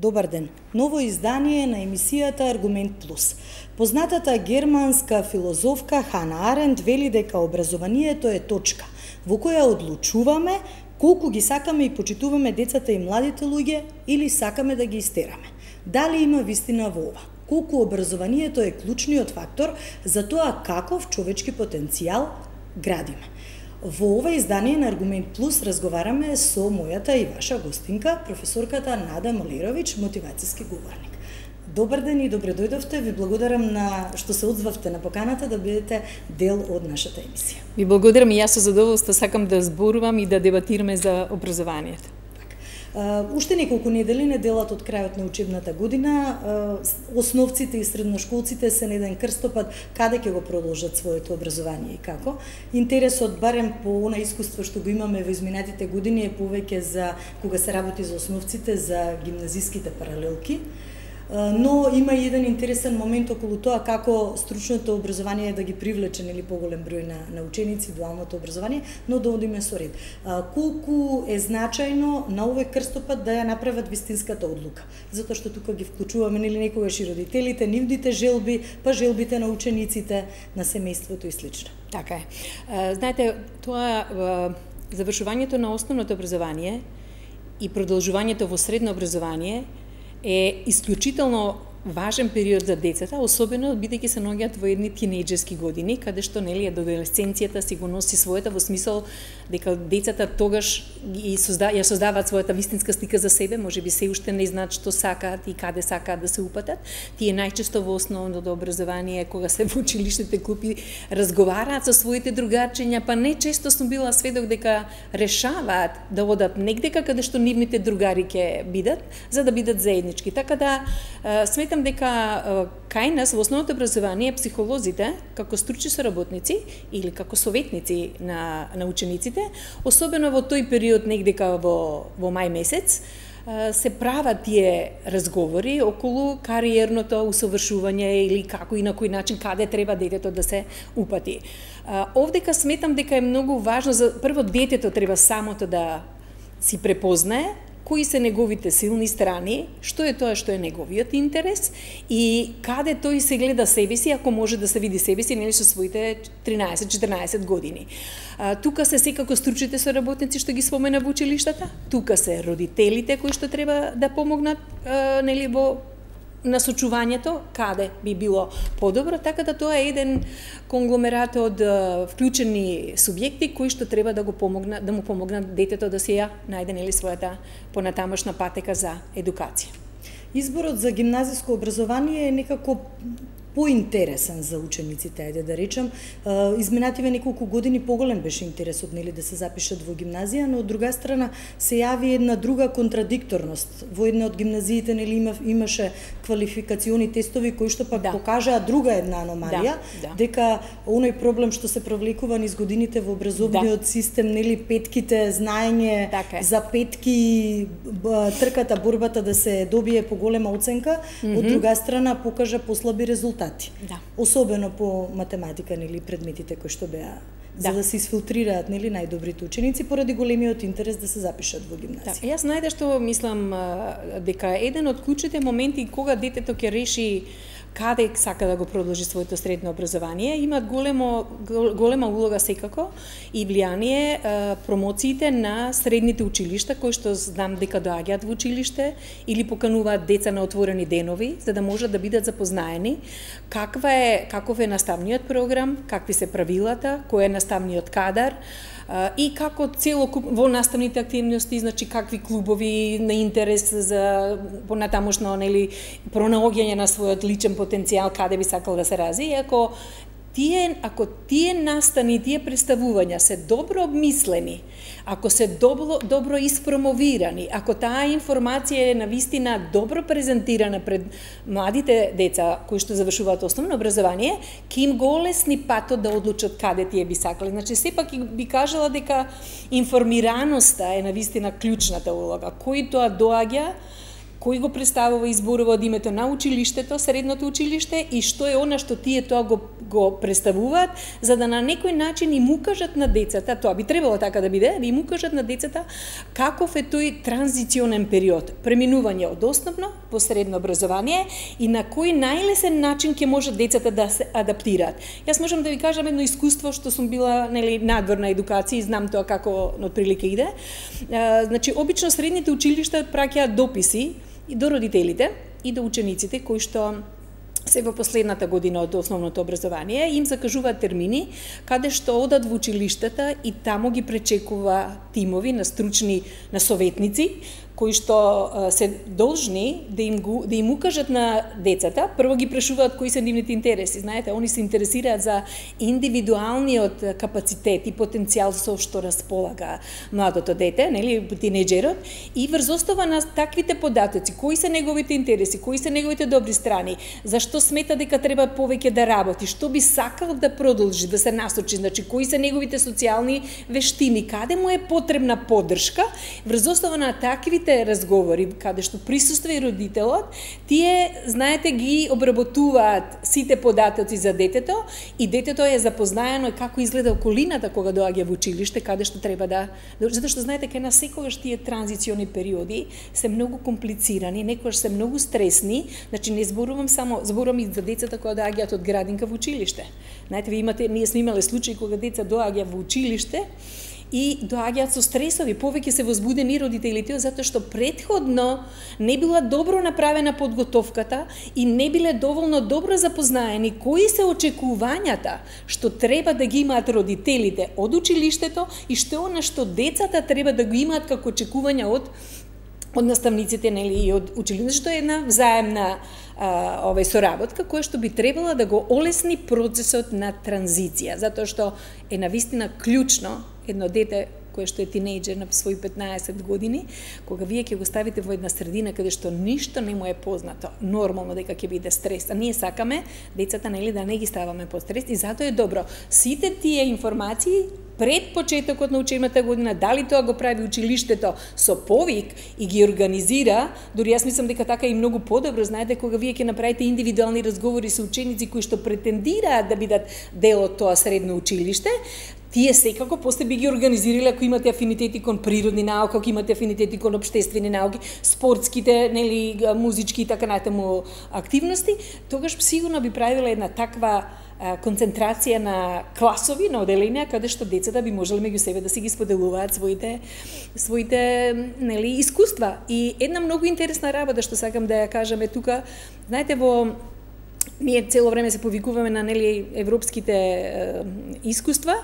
Добар ден. Ново издание на емисијата Аргумент Плюс. Познатата германска филозофка Хана Аренд вели дека образованието е точка во која одлучуваме колку ги сакаме и почитуваме децата и младите луѓе или сакаме да ги истераме. Дали има вистина во ова? Колку образованието е клучниот фактор за тоа каков човечки потенцијал градиме. Во ова издание на Аргумент Плюс разговараме со мојата и ваша гостинка, професорката Нада Молировиќ, мотивацијски говорник. Добар ден и добре дојдовте. Ви благодарам на што се одзвавте на поканата да бидете дел од нашата емисија. Ви благодарам и јас со задоволство сакам да зборувам и да дебатираме за образованието. Уште неколку недели, неделат од крајот на учебната година, основците и средношколците се на еден крстопат каде ќе го продолжат своето образование и како. Интересот, барем по она искуство што го имаме во изминатите години, е повеќе за кога се работи за основците, за гимназиските паралелки. Но има и еден интересен момент околу тоа како стручното образование да ги привлече или поголем број на ученици, дуалното образование, но да одиме со ред. Колку е значајно на овој крстопат да ја направат вистинската одлука, затоа што тука ги вклучуваме нели некогаш и родителите, нивните желби, па желбите на учениците, на семејството и слично. Така е. Знаете, тоа завршувањето на основното образование и продолжувањето во средно образование е исклучително важен период за децата, особено бидејќи се наоѓаат во едни тинејџерски години, каде што нели адолесценцијата си го носи својата во смисол дека децата тогаш ја создаваат својата вистинска слика за себе, можеби се уште не знаат што сакаат и каде сакаат да се упатат. Тие најчесто во основното образование, кога се во училиштните клупи, разговараат со своите другарчиња, па не често сум била сведок дека решаваат да одат негде каде што нивните другари ќе бидат, за да бидат заеднички. Така да сметам дека кај нас во основното образование психолозите, како стручни соработници или како советници на учениците, особено во тој период негдека во мај месец, се прават тие разговори околу кариерното усовршување или како и на кој начин каде треба детето да се упати. Овдека сметам дека е многу важно за прво детето треба самото да си препознае кои се неговите силни страни, што е тоа што е неговиот интерес и каде тој се гледа себе си, ако може да се види себе си, нели со своите 13-14 години. Тука се секако стручните соработници што ги спомена во училиштата, тука се родителите кои што треба да помогнат нели во насочувањето каде би било подобро, така да тоа е еден конгломерат од вклучени субјекти кои што треба да му помогнат детето да се ја најде нели својата понатамошна патека за едукација. Изборот за гимназиско образование е некако поинтересен за учениците, ајде да речем. Изминативе неколку години поголем беше интересот нели да се запишат во гимназија, но од друга страна се јави една друга контрадикторност. Во една од гимназиите нели имаше квалификациони тестови кои што пак покажаа друга една аномалија, дека оној проблем што се провлекува низ годините во образовниот систем, нели петките, знаење за петки, трката, борбата да се добие поголема оценка, од друга страна покажа послаби резултати. Особено по математика нели предметите кои што беа за да се изфилтрираат нели најдобрите ученици поради големиот интерес да се запишат во гимназија. Јас најде што мислам дека еден од клучните моменти кога детето ќе реши каде сака да го продолжи своето средно образование, имаат голема улога секако и влијание промоциите на средните училишта кои што знам дека доаѓаат во училиште или покануваат деца на отворени денови за да можат да бидат запознаени каков е наставниот програм, какви се правилата, кој е наставниот кадар и како во наставните активности, значи какви клубови на интерес за понатамошно нели пронаоѓање на својот личен потенцијал, каде би сакал да се разви. Ако тие настани, тие представувања се добро обмислени, ако се добро испромовирани, ако таа информација е навистина добро презентирана пред младите деца кои што завршуваат основно образование, ќе им го олесни патот да одлучат каде тие би сакале. Значи сепак би кажала дека информираноста е навистина клучната улога. Кој тоа доаѓа, кој го представува и зборува од името на училиштето, средното училиште, и што е она што тие тоа го представуваат, за да на некој начин им укажат на децата, тоа би требало така да биде, да им укажат на децата каков е тој транзиционен период, преминување од основно во средно образование и на кој најлесен начин ќе може децата да се адаптираат. Јас можам да ви кажам едно искуство што сум била, нели, надворна едукација и знам тоа како отприлике иде. Значи, обично средните училишта праќаат дописи и до родителите и до учениците кои што се во последната година од основното образование, им закажуваат термини каде што одат во училиштата и таму ги пречекува тимови на стручни, на советници, кои што се должни да им укажат на децата. Прво ги прашуваат кои се нивните интереси. Знаете, они се интересираат за индивидуалниот капацитет и потенцијал со што располага младото дете, нели, тинеџерот, и врз основа на таквите податоци, кои се неговите интереси, кои се неговите добри страни, зашто смета дека треба повеќе да работи, што би сакал да продолжи, да се насочи, значи кои се неговите социјални вештини, каде му е потребна поддршка, врз основа на таквите разговори, каде што присуства и родителот, тие, знаете, ги обработуваат сите податоци за детето и детето е запознаено како изгледа околината кога доаѓа во училиште, каде што треба да... Затоа што, знаете, кај нас секогаш тие транзициони периоди се многу комплицирани, некогаш се многу стресни, значи не зборувам само, зборувам и за децата кои доаѓаат од градинка во училиште. Знаете, ние сме имале случаи кога деца доаѓа во училиште и доаѓаат со стресови, повеќе се возбудени родителите, затоа што претходно не била добро направена подготовката и не биле доволно добро запознаени кои се очекувањата што треба да ги имаат родителите од училиштето и што она што децата треба да го имаат како очекувања од наставниците, нели, и од училиштето, што е една взаемна соработка која што би требала да го олесни процесот на транзиција, затоа што е навистина клучно едно дете кое што е тинејџер на своји 15 години, кога вие ќе го ставите во една средина каде што ништо не му е познато, нормално дека ќе биде стрес. А ние сакаме децата, нели, да не ги ставаме под стрес и затоа е добро сите тие информации пред почетокот на учебната година, дали тоа го прави училиштето со повик и ги организира, дури јас мислам дека така и многу подобро, знаете, кога вие ќе направите индивидуални разговори со ученици кои што претендираат да бидат дел од тоа средно училиште, тие секако после би ги организирале ако имате афинитети кон природни науки, ако имате афинитети кон општествени науки, спортските, нели, музички и така натаму активности, тогаш сигурно би правила една таква концентрација на класови, на оделенија, каде што децата би можеле меѓу себе да си ги споделуваат своите нели, искуства. И една многу интересна работа што сакам да ја кажам е тука, знаете, ние цело време се повикуваме на, нели, европските искуства.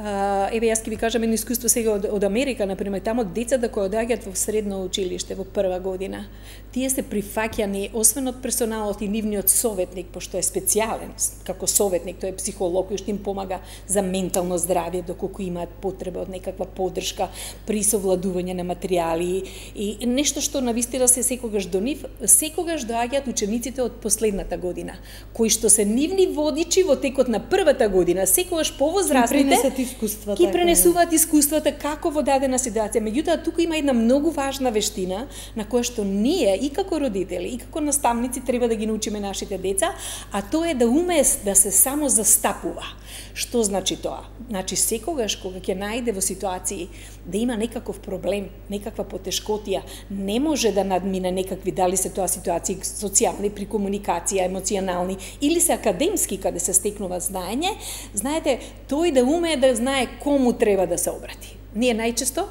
Еве, јас ќе ви кажам едно искуство сега од Америка, например, тамо децата кои доаѓаат во средно училиште во прва година, тие се прифаќани освен од персоналот и нивниот советник, пошто е специјален како советник, тој е психолог кој што им помага за ментално здравје, доколку имаат потреба од некаква поддршка при совладување на материјали и нешто што навистина се секогаш до нив, секогаш доаѓаат учениците од последната година, кои што се нивни водичи во текот на првата година, секогаш повозрастните ги пренесуваат искуствата како во дадена ситуација. Меѓутоа, тука има една многу важна вештина на која што ние и како родители, и како наставници треба да ги научиме нашите деца, а тоа е да уме да се само застапува. Што значи тоа? Значи, секогаш кога ќе најде во ситуации да има некаков проблем, некаква потешкотија, не може да надмине некакви, дали се тоа ситуации социјални, при комуникација, емоционални, или се академски, каде се стекнува знаење, знаете, тој да уме да знае кому треба да се обрати. Ние најчесто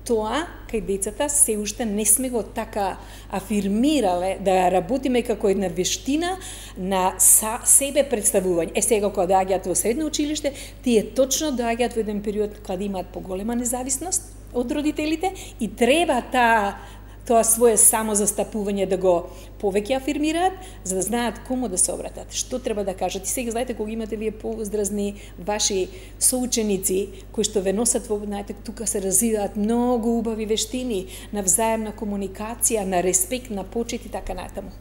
тоа кај децата се уште не сме го така афирмирале да работиме како една вештина на себе представување. Сега кога доаѓаат во средно училиште, тие точно доаѓаат во еден период кога имаат поголема независност од родителите и треба тоа свое самозастапување да го повеќе афирмираат, за да знаат кому да се обратат, што треба да кажат. И сега, знаете, кога имате вие повозрастни ваши соученици, кои што ве носат во, знаете, тука се развиваат многу убави вештини на взаемна комуникација, на респект, на почит и така натаму.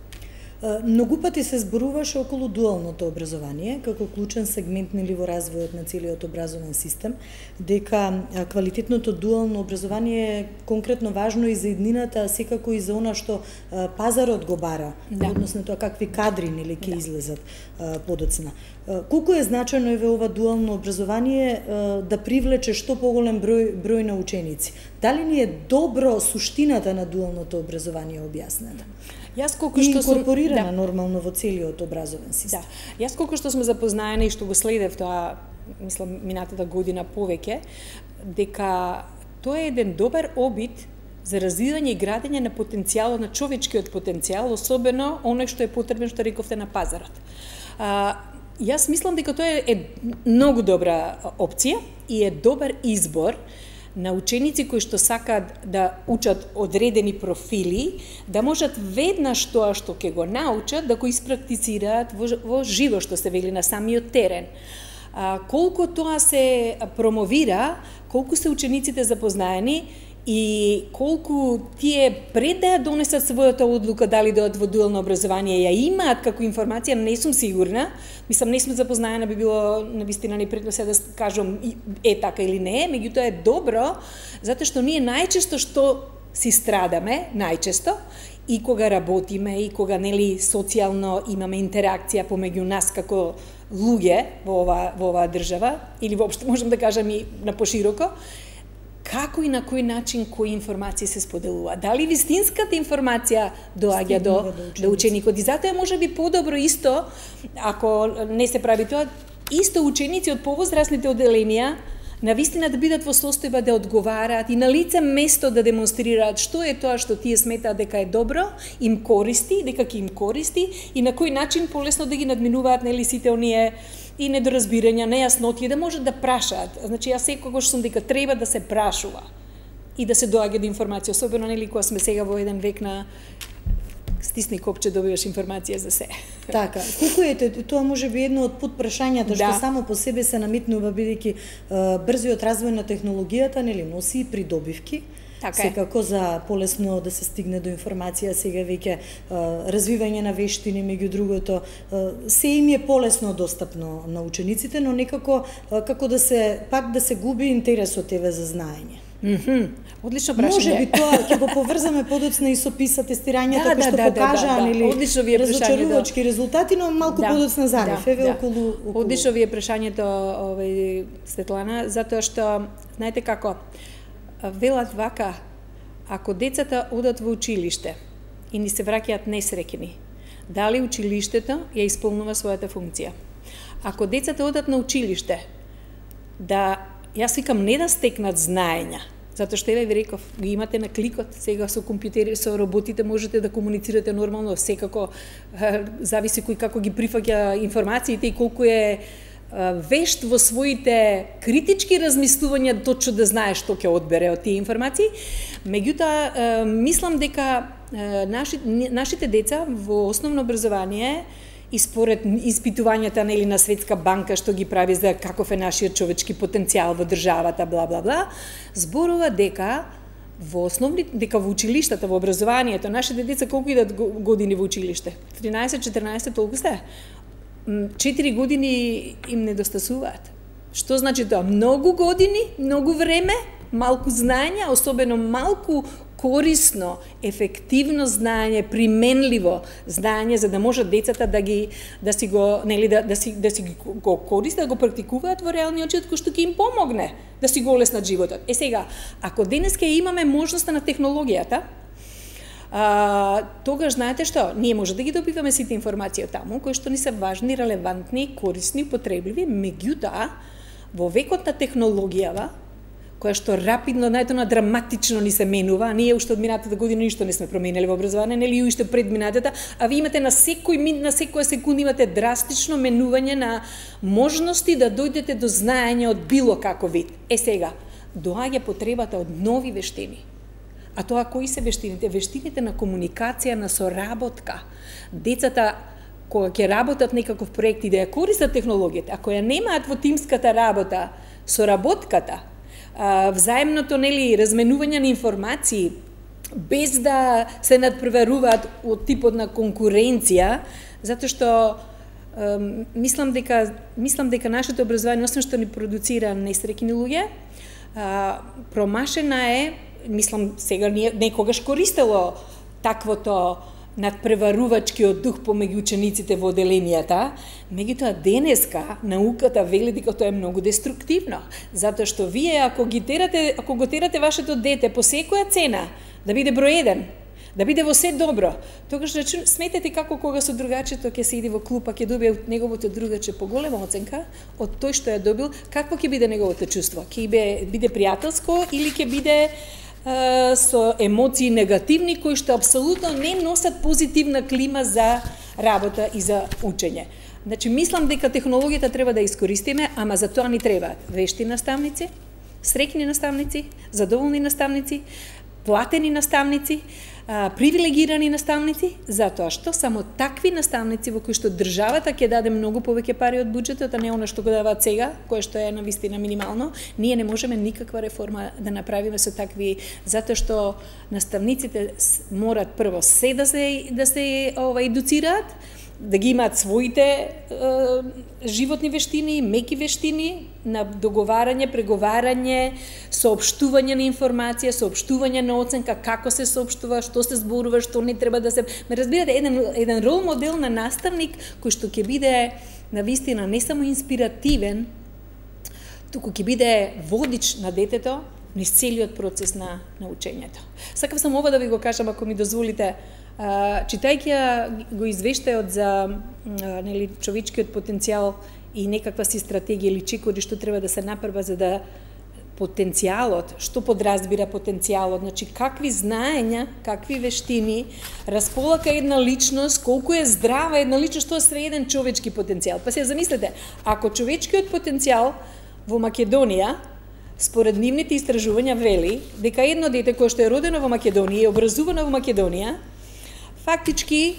Многу пати се зборуваше околу дуалното образование како клучен сегмент во развојот на целиот образовен систем, дека квалитетното дуално образование е конкретно важно и за иднината, а секако и за она што пазарот го бара, односно тоа какви кадри ќе излезат подоцна. Колку е значено ова дуално образование да привлече што поголем број на ученици? Дали ни е добро суштината на дуалното образование објаснета? Јас колку што сум инкорпорирана нормално во целиот образовен систем. Да. Јас колку што сме запознаени и што го следев тоа, мислам, минатата година повеќе, дека тоа е еден добар обид за развивање и градење на потенцијалот, на човечкиот потенцијал, особено оној што е потребен, што рековте, на пазарот. Јас мислам дека тоа е многу добра опција и е добар избор на ученици кои што сакаат да учат одредени профили, да можат веднаш тоа што ќе го научат, да го испрактицираат во живо, што се вели, на самиот терен. Колку тоа се промовира, колку се учениците запознаени и колку тие пред да ја донесат својата одлука дали да одат во дуално образование ја имаат како информација, не сум сигурна. Мислам, не сме запознаена, би било навистина непредно се да кажам е така или не, меѓутоа е добро, затоа што ние најчесто што си страдаме, најчесто, и кога работиме, и кога социјално имаме интеракција помеѓу нас како луѓе во оваа држава, или воопшто можам да кажам и на пошироко, како и на кој начин кои информации се споделува. Дали вистинската информација доаѓа до ученикот? И затоа е можеби подобро исто, ако не се прави тоа, исто ученици од повозрастните одделенија навистина да бидат во состојба да одговараат и на лице место да демонстрираат што е тоа што тие сметаат дека е добро, им користи, дека ќе им користи и на кој начин полесно да ги надминуваат сите оние и недоразбирања, нејаснотии, да можат да прашаат. Значи, јас секогаш сум дека треба да се прашува и да се доаѓа до информација, особено кога сме сега во еден век на стисни копче, добиваш информација за се. Така, колку е тоа може би едно од подпрашањата што само по себе се наметнува, бидејќи брзиот развој на технологијата носи и придобивки. Секако за полесно да се стигне до информација, сега веќе развивање на вештини, меѓу другото, се им е полесно достапно на учениците, но некако како да се губи интересот за знаење. Одлично прашање. Може би тоа ќе го поврзаме подоцна и со PISA тестирањата кои што покажаа разочарувачки резултати, но малку подоцна зарев околу. Одлично ви е прашањето, Светлана, затоа што знаете како велат вака, ако децата одат во училиште и ни се враќаат несреќни, дали училиштето ја исполнува својата функција? Ако децата одат на училиште, јас викам не да стекнат знаења, затоа што ви реков, ги имате на кликот, сега со компјутери, со роботите можете да комуницирате нормално, секако зависи кој како ги прифаќа информациите и колку е вешт во своите критички размислувања, точно да знае што ќе одбере од тие информации. Меѓутоа, мислам дека нашите деца во основно образование и според испитувањата на Светска банка што ги прави за каков е нашиот човечки потенцијал во државата, бла бла бла, зборува дека во училиштата, во образованието, нашите деца колку идат години во училиште? 13-14, толку сте? 4 години им недостасуваат. Што значи тоа? Многу години, многу време, малку знаење, особено малку корисно, ефективно знаење, применливо знаење за да можат децата да си го користат, да го практикуваат во реалниот живот, кој што ќе им помогне да си го олеснат животот. Сега, ако денеска имаме можноста на технологијата, тогаш знаете што? Ние може да ги добиваме сите информации од таму, кои што ни се важни, релевантни, корисни, потребливи, меѓутоа, во векот на технологијава, која што рапидно, драматично ни се менува, ние уште од минатата година ништо не сме променели во образование, нели уште пред минатата, а ви имате на секоја секунда имате драстично менување на можности да дојдете до знаење од било каков вид. Сега, доаѓа потребата од нови вештини. А тоа кои се вештините? Вештините на комуникација, на соработка. Децата, кога ќе работат некаков проект и да ја користат технологијата, ако ја немаат во тимската работа, соработката, взаемното разменување на информации, без да се надпреваруваат од типот на конкуренција, затоа што мислам дека нашето образование, освен што ни продуцира несреќни луѓе, промашена е, мислам сега некогаш користело таквото надпреварувачкиот дух помеѓу учениците во оделенијата, меѓутоа денеска науката вели дека тоа е многу деструктивно, затоа што вие ако го терате вашето дете по секоја цена да биде број 1, да биде во се добро, тогаш сметете како кога со другачето ќе се иди во клуб, ќе добие од неговото другаче поголема оценка од тој што ја добил, какво ќе биде неговото чувство? Ќе биде пријателско или ќе биде со емоции негативни кои што апсолутно не носат позитивна клима за работа и за учење. Значи, мислам дека технологијата треба да искористиме, ама за тоа ни требаат вешти наставници, среќни наставници, задоволни наставници, платени наставници, привилегирани наставници, затоа што само такви наставници во кои што државата ќе даде многу повеќе пари од буџетот, а не она што го даваат сега, кое што е навистина минимално, ние не можеме никаква реформа да направиме со такви, затоа што наставниците морат прво се да се едуцираат, да ги имаат своите животни вештини, меки вештини на договарање, преговарање, соопштување на информација, соопштување на оценка, како се соопштува, што се зборува, што не треба да се... Ме разбирате, еден рол модел на наставник кој што ќе биде навистина не само инспиративен, туку ќе биде водич на детето низ целиот процес на учењето. Сакав само ова да ви го кажам, ако ми дозволите, читајќи го извештајот за човечкиот потенцијал и некаква си стратегија или чекори што треба да се направи за да потенцијалот, што подразбира потенцијалот, значи какви знаења, какви вештини располага една личност, колку е здрава една личност, тоа е среден човечки потенцијал. Па се замислете, ако човечкиот потенцијал во Македонија според нивните истражувања вели дека едно дете кое што е родено во Македонија и образувано во Македонија, фактички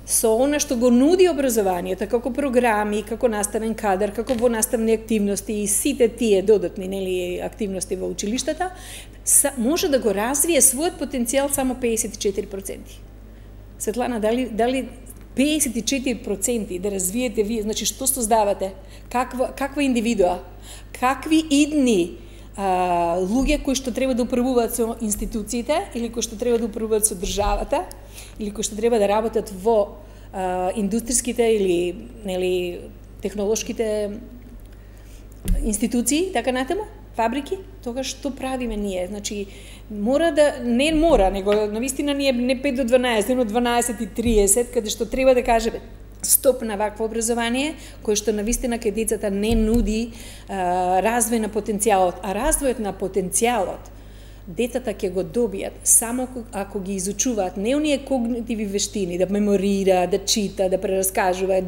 со она што го нуди образованието, како програми, како наставен кадар, како во наставни активности и сите тие додатни активности во училиштата, може да го развие својот потенцијал само 54%. Светлана, дали 54% да развиете вие, значи што создавате? Каква индивидуа? Какви идни луѓе кои што треба да управуваат со институциите или кои што треба да управуваат со државата или кои што треба да работат во индустриските или технолошките институции, така натаму, фабрики, тогаш што правиме ние? Значи, него навистина ние не 5 до 12, но 12 и 30, каде што треба да кажеме стоп на вакво образование, кое што навистина кај децата не нуди развој на потенцијалот, а развојот на потенцијалот децата ќе го добијат само ако ги изучуваат не оние когнитиви вештини, да меморира, да чита, да прераскажува,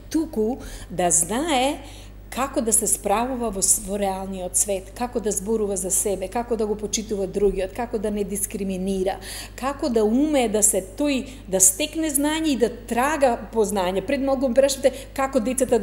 туку да знае како да се справува во реалниот свет, како да зборува за себе, како да го почитува другиот, како да не дискриминира, како да уме да стекне знање и да трага по знање. Пред малку ме прашавте како децата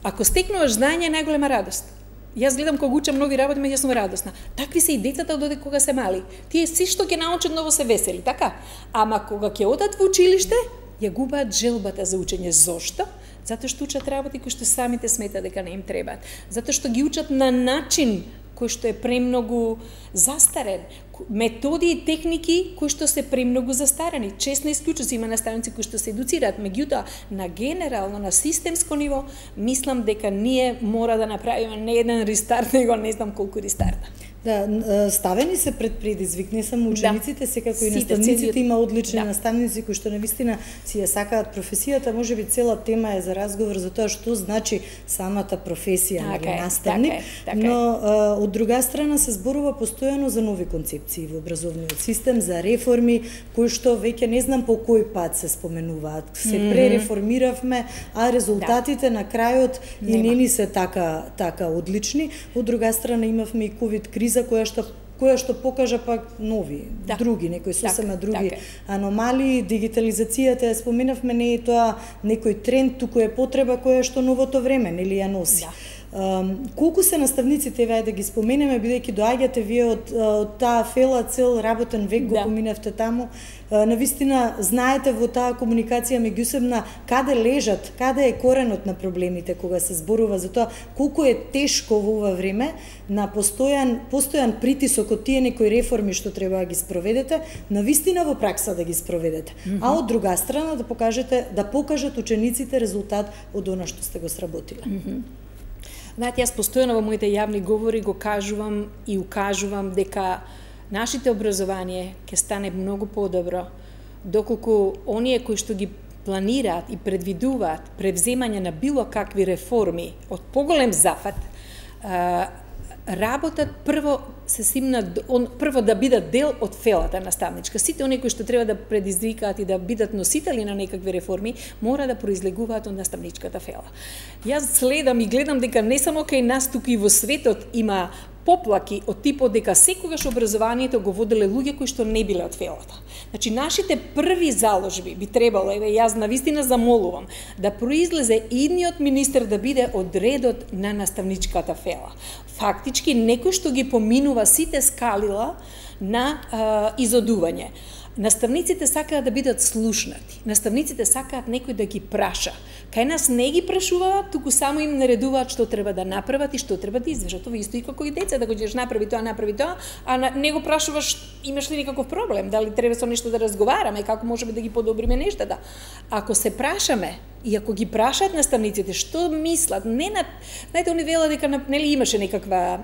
ако стекнуваш знање е најголема радост. Јас гледам кога учам нови работи, меѓу сум радосна. Такви се и децата додека кога се мали. Тие си што ќе научат ново се весели, така? Ама кога ќе одат во училиште, ја губаат желбата за учење. Зошто? Затоа што учат работи кои што самите сметаат дека не им требаат. Затоа што ги учат на начин кој што е премногу застарен. Методи и техники кои што се премногу застарени. Честно исклучуци има наставници кои што се едуцираат, меѓутоа на генерално, на системско ниво, мислам дека ние мора да направиме не еден рестарт, него не знам колку рестарта. Да, ставени се пред предизвик, не само учениците, секако и наставниците, има одлични наставници кои што навистина си ја сакаат професијата, можеби цела тема е за разговор за тоа што значи самата професија на наставник, но од друга страна се зборува постојано за нови концепции во образовниот систем, за реформи кои што веќе не знам по кој пат се споменуваат. Се пререформиравме, а резултатите на крајот и не ни се така одлични. Од друга страна имавме и ковид криза која што покажа пак нови, други, некои сосема други аномалии. Дигитализацијата ја споменавме, не е тоа некој тренд, туку е потреба која што новото време нели ја носи. Колку се наставниците, еве да ги споменеме, бидејќи доаѓате вие од таа фела, цел работен век го поминавте таму, навистина знаете во таа комуникација меѓусебна каде лежат, каде е коренот на проблемите кога се зборува за тоа колку е тешко во ова време на постојан притисок од тие некои реформи што треба да ги спроведете, навистина во пракса да ги спроведете. А од друга страна да покажат учениците резултат од она што сте го сработиле. Знаете, јас постојано во моите јавни говори го кажувам и укажувам дека нашите образование ќе стане многу подобро доколку оние кои што ги планираат и предвидуваат превземање на било какви реформи од поголем зафат, работат прво прво да бидат дел од фелата наставничка. Сите оние кои што треба да предизвикаат и да бидат носители на некакви реформи, мора да произлегуваат од наставничката фела. Јас следам и гледам дека не само кај нас, туку и во светот има поплаки од типот дека секогаш образованието го воделе луѓе кои што не биле од фелата. Значи, нашите први заложби би требало, еве јас навистина замолувам, да произлезе идниот министер да биде од редот на наставничката фела. Фактички, некој што ги поминува сите скалила на изодување. Наставниците сакаат да бидат слушнати. Наставниците сакаат некој да ги праша. Кај нас не ги прашуваат, туку само им наредуваат што треба да направат и што треба да извршат. Това исто и како и деца, да го ќе направи тоа, а не го прашуваш имаш ли некаков проблем, дали треба со нешто да разговараме, како можеме да ги подобриме нештата. Ако се прашаме и ако ги прашаат наставниците што мислат, знаете, они велат дека нели имаше некаква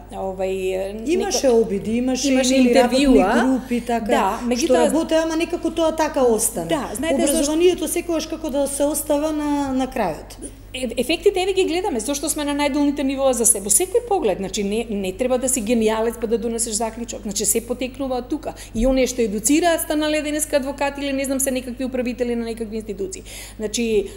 имаше обиди, имаше интервјуа, групи така, што работеа, ама некако тоа така остана. Да, знаете, образованието секогаш како да се остава на крајот. Ефектите еве ги гледаме, зашто сме на најдолните нивоа за себе. Секој поглед, значи не треба да си гениалец па да донесеш заклучок. Значи се потекнува од тука. И оние што едуцираат станале денеска адвокати или не знам се некакви управители на некакви институции. Значи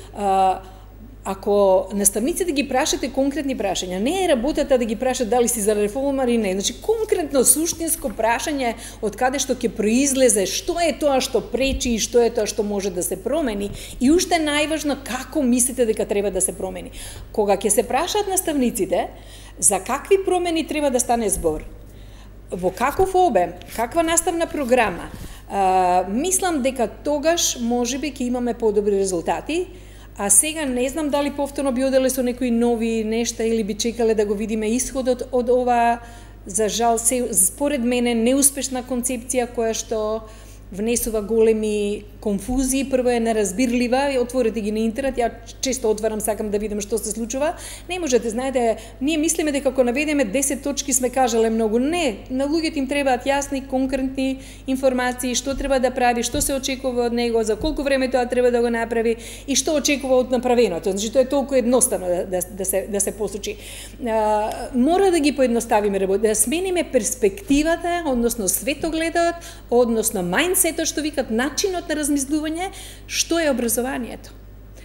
ако наставниците ги прашате конкретни прашања, не е работата да ги прашат дали си за реформа или не. Значи конкретно суштинско прашање од каде што ќе произлезе што е тоа што пречи и што е тоа што може да се промени и уште најважно како мислите дека треба да се промени. Кога ќе се прашаат наставниците за какви промени треба да стане збор, во каков обем, каква наставна програма, мислам дека тогаш можеби ќе имаме подобри резултати. А сега не знам дали повторно би оделе со некои нови нешта или би чекале да го видиме исходот од ова, за жал, според мене, неуспешна концепција која што внесува големи конфузии, прво е неразбирлива, отворете ги на интернет, ја често отварам, сакам да видам што се случува. Не можете, знаете, ние мислиме дека ако наведеме 10 точки сме кажале многу. Не, на луѓето им требаат јасни, конкретни информации, што треба да прави, што се очекува од него, за колку време тоа треба да го направи и што очекува од направеното. Значи тоа е толку едноставно да се посочи. Мора да ги поедноставиме работа, да смениме перспективата, односно светогледот, односно мајндсетот, што викат начинот на размислување, што е образованието.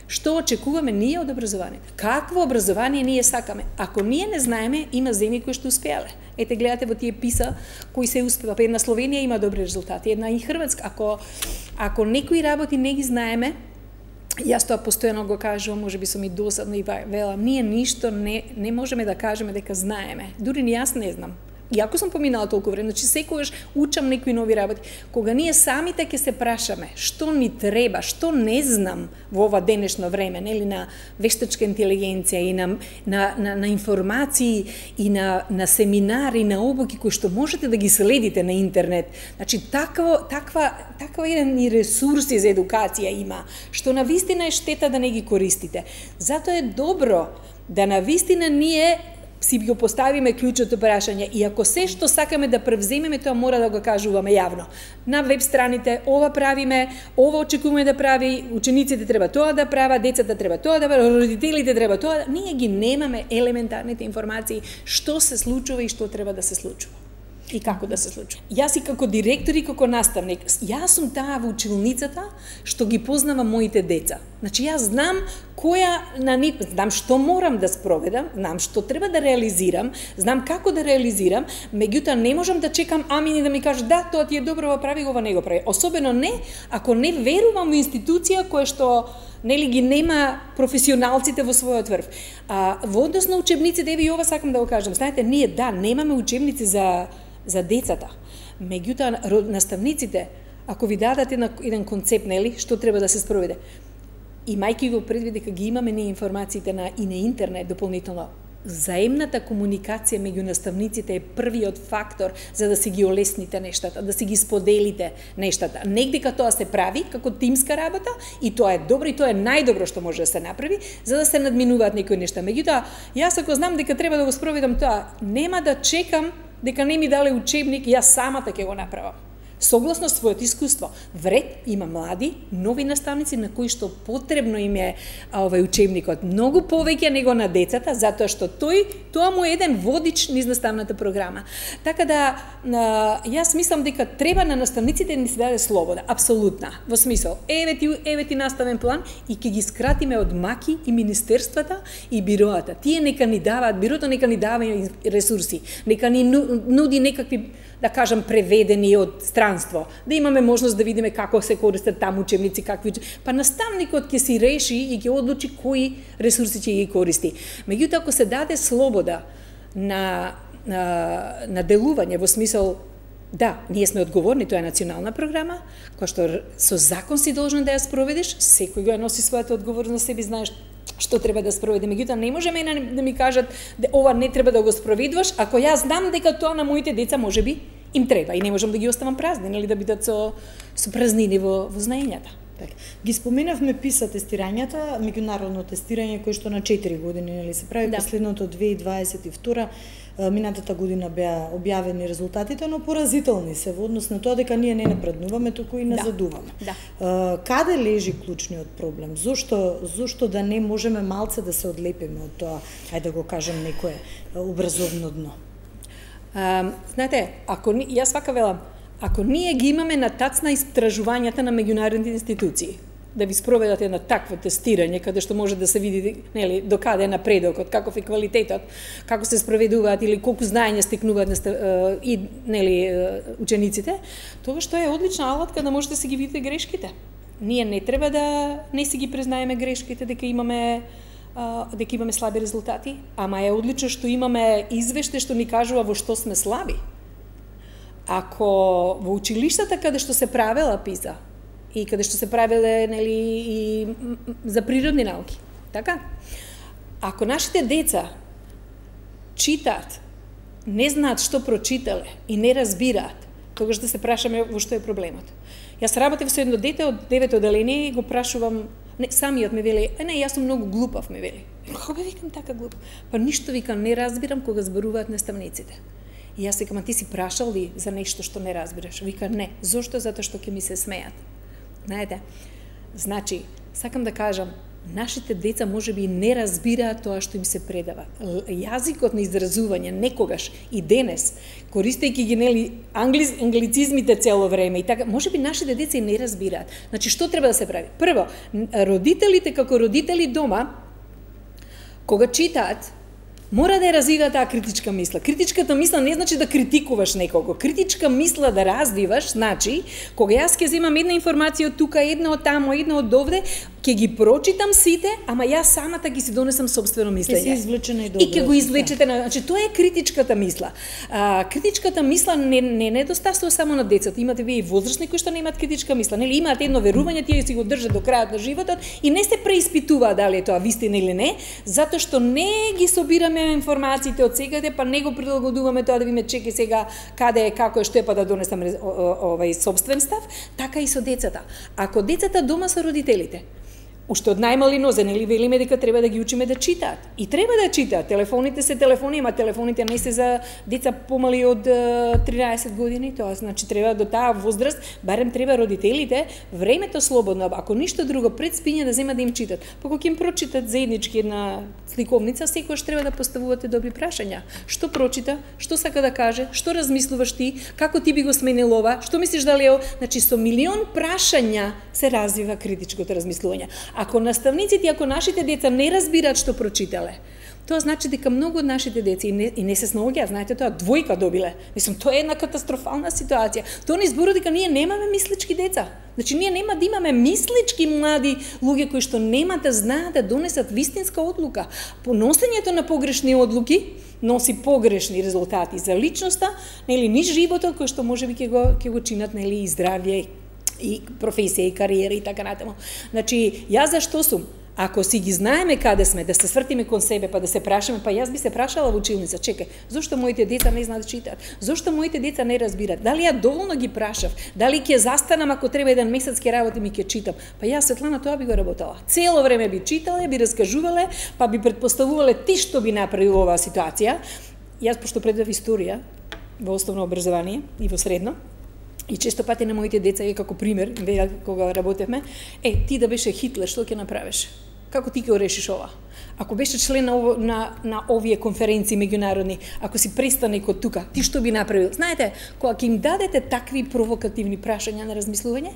Што очекуваме ние од образованието? Какво образование ние сакаме? Ако ние не знаеме, има земји кои што успеале. Ете, гледате во тие писа кои се успева. Една Словенија има добри резултати, една и Хрватска. Ако некои работи не ги знаеме, јас тоа постојано го кажувам, можеби сум и досадна и велам, ние ништо не можеме да кажеме дека знаеме. Дури ни јас не знам. Иако сум поминала толку време, значи секогаш учам некои нови работи. Кога ние самите ќе се прашаме што ни треба, што не знам во ова денешно време, нели, на вештачка интелигенција и на информации и на семинари, на обуки кои што можете да ги следите на интернет. Значи таква еден ресурси за едукација има, што навистина е штета да не ги користите. Затоа е добро да навистина ние си го поставиме клучното прашање и ако се што сакаме да превземеме, тоа мора да го кажуваме јавно. На веб страните ова правиме, ова очекуваме да прави, учениците треба тоа да прават, децата треба тоа да прават, родителите треба тоа. Ние ги немаме елементарните информации што се случува и што треба да се случува. И како да се случува. Јас и како директор и како наставник, јас сум таа во училницата што ги познава моите деца. Значи јас знам знам што морам да спроведам, знам што треба да реализирам, знам како да реализирам, меѓутоа не можам да чекам амини да ми кажат да, тоа ти е добро, прави го, ова не го прави. Особено не ако не верувам во институција која што нели ги нема професионалците во својот врв. Во однос на учебниците, и ова сакам да го кажам. Знаете, ние немаме учебници за децата. Меѓутоа наставниците, ако ви дадат еден концепт, нели, што треба да се спроведе, имајќи го предвид дека ги имаме ние информациите и на интернет дополнително, заемната комуникација меѓу наставниците е првиот фактор за да си ги олесните нештата, да си ги споделите нештата. Негдека тоа се прави како тимска работа и тоа е добро и тоа е најдобро што може да се направи за да се надминуваат некои нешта. Меѓутоа, јас ако знам дека треба да го спроведам тоа, нема да чекам дека не ми дале учебник, јас самата ќе го направам. Согласно својот искуство. Вред има млади, нови наставници на кои што потребно им е учебникот. Многу повеќе него на децата, затоа што тоа му е еден водич низ наставната програма. Така да, јас мислам дека треба на наставниците да ни се даде слобода, апсолутна. Во смисол, еве ти наставен план и ќе ги скратиме од маки и министерствата и бироата. Тие нека ни даваат, бирото нека ни дава ресурси, нека ни нуди некакви, да кажам, преведени од странство, да имаме можност да видиме како се користат таму учебници, па наставникот ќе си реши и ќе одлучи кои ресурси ќе ги користи. Меѓутоа, ако се даде слобода на делување во смисол, да, ние сме одговорни, тоа е национална програма, која што со закон си должен да ја спроведеш, секој го носи својата одговорност, себе знаеш што треба да спроведе. Меѓутоа, не може мене да ми кажат ова не треба да го спроведуваш, ако јас знам дека тоа на моите деца можеби им треба и не можам да ги оставам празни, нели, да бидат со празнини во знаењата. Ги споменавме PISA тестирањата, меѓународно тестирање кој што на 4 години нели се прави, последното 2022, минатата година беа објавени резултатите, но поразителни се во однос на тоа дека ние не напреднуваме, туку и назадуваме. Каде лежи клучниот проблем? Зошто да не можеме малце да се одлепиме од тоа, ајде да го кажам, некое образовно дно? Знаете, јас вака велам, ако ние ги имаме на тацна истражувањата на меѓународните институции, да ви спроведат едно такво тестирање, каде што може да се види, нели, до каде е напредокот, каков е квалитетот, како се спроведуваат или колку знаење стекнуваат и, нели, учениците, тоа што е одлична алатка да можете да се ги видите грешките. Ние не треба да не си ги признаеме грешките, дека имаме слаби резултати, ама е одлично што имаме извеште што ни кажува во што сме слаби. Ако во училиштата каде што се правела PISA и каде што се правеле, нели, и за природни науки, така? Ако нашите деца читаат, не знаат што прочитале и не разбираат, тогаш да се прашаме во што е проблемот. Јас работев со едно дете од 9 оделение и го прашувам, самиот ме вели, не, јас сум многу глупав, ме вели. Кога викам така глупав? Па ништо, викам, не разбирам кога зборуваат наставниците. И јас викам, ти си прашал ли за нешто што не разбираш? Вика, не. Зошто? Затоа што ќе ми се смеат. Знаете, значи, сакам да кажам, нашите деца можеби не разбираат тоа што им се предава. Јазикот на изразување некогаш и денес, користејќи ги, нели, англицизмите цело време и така, можеби нашите деца и не разбираат. Значи, што треба да се прави? Прво, родителите како родители дома, кога читаат, мора да ја развиваат таа критичка мисла. Критичката мисла не значи да критикуваш некого. Критичка мисла да развиваш, значи, кога јас ќе земам една информација од тука, една од таму, една од овде, ќе ги прочитам сите, ама јас самата ги си донесам собствено мислење. Ќе се извлечене и добро. И ќе го извлечете, значи тоа е критичката мисла. Критичката мисла не недостасува само на децата. Имате вие и возрастни кои што немаат критичка мисла, нели, имаат едно верување, тие си го држат до крајот на животот и не се преиспитуваат дали е тоа вистина или не, затоа што не ги собираме информациите од секаде, па не го прилагодуваме тоа да видиме чеки сега каде е, како е, што е, па да донесам собствен став, така и со децата. Ако децата дома со родителите, уште од најмали нозе, нели, велиме дека треба да ги учиме да читаат. И треба да читаат. Телефоните се телефони, ама телефоните не се за деца помали од 13 години, тоа значи треба до таа возраст, барем треба родителите времето слободно, ако ништо друго пред спиње да земат да им читат. Па кога им прочитат заеднички една сликовница, секогаш треба да поставувате добри прашања. Што прочита, што сака да каже, што размислуваш ти, како ти би го сменил ова, што мислиш дали е, значи со милион прашања се развива критичкото размислување. Ако наставниците, ако нашите деца не разбираат што прочитале, тоа значи дека многу од нашите деца и не се снаоѓаат, знаете тоа, двојка добиле. Мислам, тоа е една катастрофална ситуација. Тоа не зборува дека ние немаме мислички деца. Значи, ние нема да имаме мислички млади луѓе кои што нема да знаат да донесат вистинска одлука. Поносењето на погрешни одлуки носи погрешни резултати за личноста, нели, низ животот кој што можеби ќе го чинат, нели, и здравје, и професија, и кариера и така натаму. Значи, јас зашто сум? Ако си ги знаеме каде сме, да се свртиме кон себе, па да се прашаме, па јас би се прашала во училница, чекај, зошто моите деца не знаат да читаат? Зошто моите деца не разбират? Дали ја доволно ги прашав? Дали ќе застанам ако треба еден месец ќе работам и ќе читам? Па јас, Светлана, тоа би го работала. Цело време би читале, би раскажувале, па би предпоставувале ти што би направил оваа ситуација. Јас, пошто предав историја во основно образование и во средно, и често пати на моите деца е како пример, кога работевме, ти да беше Хитлер, што ќе направиш? Како ти ќе решиш ова? Ако беше член на овие конференции меѓународни, ако си престанек од тука, ти што би направил? Знаете, кога ќе им дадете такви провокативни прашања на размислување,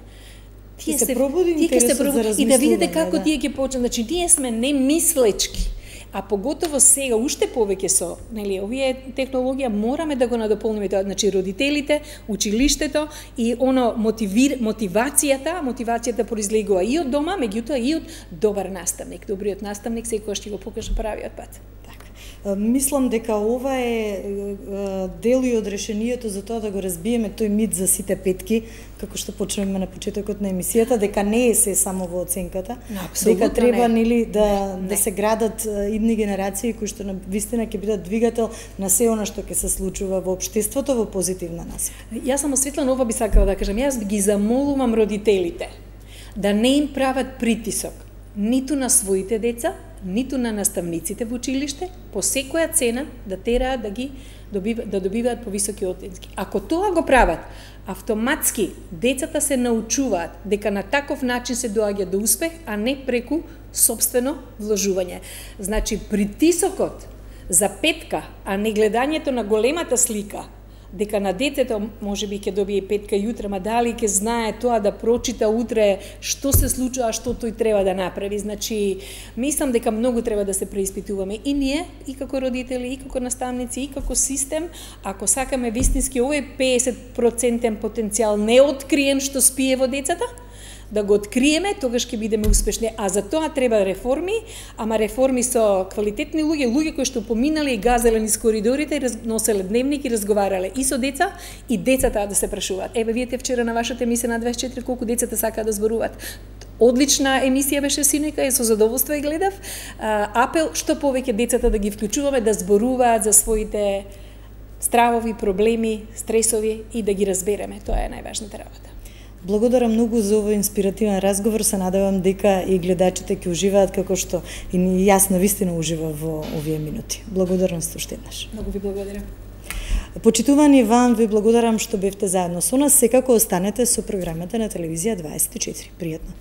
тие се пробуди интересот за размислување. И да видите како тие ќе почнат. Значи, ние сме немислечки. А поготово сега, уште повеќе со, нели, овие технологија мораме да го надополниме тоа, значи родителите, училиштето и оно мотивацијата произлегува и од дома, меѓутоа и од добар наставник. Добриот наставник секогаш ќе го покаже правиот пат. Мислам дека ова е дел и од решението за тоа да го разбиеме тој мит за сите петки, како што почнеме на почетокот на емисијата, дека не е се само во оценката, дека треба нели да се градат идни генерации кои што навистина ќе бидат двигател на се она што ќе се случува во општеството во позитивна насока. Јас само Светлана ова би сакала да кажам, јас ги замолувам родителите да не им прават притисок ниту на своите деца, ниту на наставниците во училиште, по секоја цена да тераат да добиваат повисоки оценки. Ако тоа го прават, автоматски децата се научуваат дека на таков начин се доаѓа до успех, а не преку сопствено вложување. Значи, притисокот за петка, а не гледањето на големата слика, дека на детето можеби ќе добие петка јутре, ма дали ќе знае тоа да прочита утре што се случува, што тој треба да направи. Значи, мислам дека многу треба да се преиспитуваме и ние, и како родители, и како наставници, и како систем, ако сакаме вистински овој 50% потенцијал неоткриен што спие во децата, да го откриеме, тогаш ќе бидеме успешни. А за тоа треба реформи, ама реформи со квалитетни луѓе кои што поминале и газеле низ коридорите и носеле дневник и разговарале и со деца, и децата да се прашуваат. Еве, видите вчера на вашата емисија на 24 колку децата сакаат да зборуваат. Одлична емисија беше синојка и со задоволство ја гледав. Апел што повеќе децата да ги вклучуваме да зборуваат за своите стравови, проблеми, стресови и да ги разбереме. Тоа е најважната работа. Благодарам многу за овој инспиративен разговор. Се надевам дека и гледачите ќе уживаат како што и јас навистина уживам во овие минути. Благодарност уште еднаш. Многу ви благодарам. Почитувани вам, ви благодарам што бевте заедно со нас. Секако останете со програмата на телевизија 24. Пријатно.